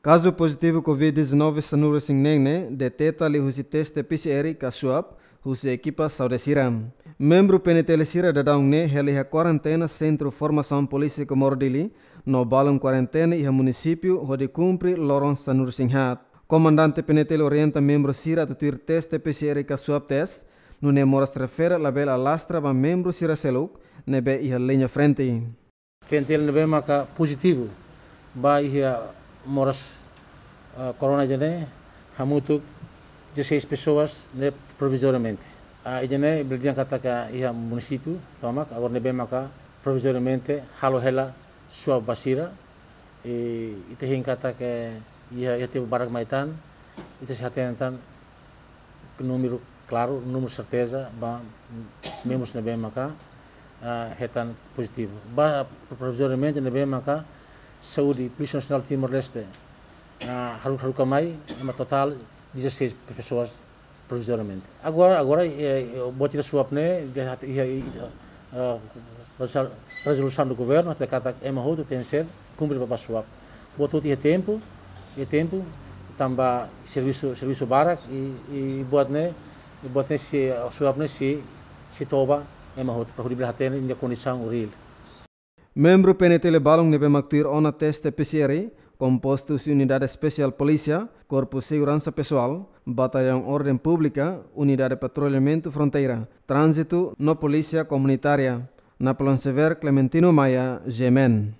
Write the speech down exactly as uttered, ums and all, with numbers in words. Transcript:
Kazu pozitivu Covid dezanove sanulu-resin-neen ne'e deteta liuhusi teste P C R ka swab husi ekipa saúde sira. Membru P N T L sira daudaun ne'e hela iha kuarentena Sentru Formasaun Polísia Comoro Dili, no balun kuarentena iha munisípiu hodi kumpre loron sanulu-resin-haat. Komandante P N T L orienta membru sira atu tuir teste P C R ka swab test, nune'e moras refere labele alastra ba membru sira seluk ne'ebé iha liña frente. P N T L ne'ebé maka pozitivu ba iha moras, ah, corona ida-ne'e, hamutuk dezasseis pessoas ne'e provizoriamente. Ah, ida-ne'e bele dehan katak iha munisípiu tomak, agora ne'ebé maka provizoriamente halo hela swab ba sira, i ita hein katak iha, iha tempu badak mai tan, ita sei hatene tan númeru klaru, númeru serteza ba membrus ne'ebé maka, ah, hetan pozitivu. Ba provizoriamente ne'ebé maka Saúde, Polísia Nasionál Timor-Leste, ah, haru-, haruka mai, ema totál dezasseis pessoas provizoriamente. Agora, agora, eh, eh, buat ida swab ne'e, de hat-, iha, iha, eh, rezol-, rezolusaun do governu, hatete katak ema hotu tenke ser kumpre ba, ba swab. Buat hotu iha tempu, iha tempu, tanba servisu, servisu barak, i, i buat ne'e, i buat ne'e sei, swab ne'e sei, sei toba ema hotu, para hodi bele hatene nia kondisaun reál. Membru P N T L balun ne'ebé mak tuir ona teste P C R, kompostu husi Unidade Espesiál Polísia, Korpu Seguransa Pesoál, Batallaun Orden Públika, Unidade Patrullamentu Fronteira, Tránzitu no Polísia Komunitária. Napoleon Xavier, Clementino Maia, G M N.